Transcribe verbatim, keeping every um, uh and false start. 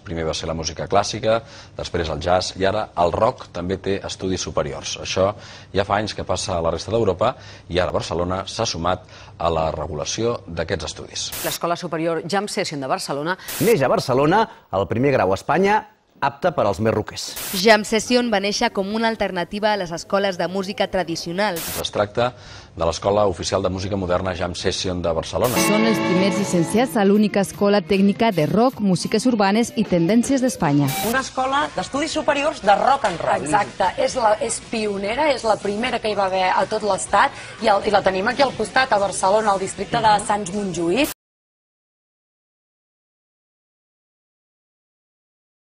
Primer va ser la música clàssica, després el jazz i ara el rock també té estudis superiors. Això ja fa anys que passa a la resta d'Europa i ara Barcelona s'ha sumat a la regulació d'aquests estudis. L'Escola Superior Jam Session de Barcelona neix a Barcelona, el primer grau a Espanya, apte per als més roquers. Jam Session va néixer com una alternativa a les escoles de música tradicionals. Es tracta de l'Escola Oficial de Música Moderna Jam Session de Barcelona. Són els primers llicenciats a l'única escola tècnica de rock, músiques urbanes i tendències d'Espanya. Una escola d'estudis superiors de rock and roll. Exacte, és, la, és pionera, és la primera que hi va haver a tot l'Estat i, el, i la tenim aquí al costat, a Barcelona, al districte de Sants Montjuïc.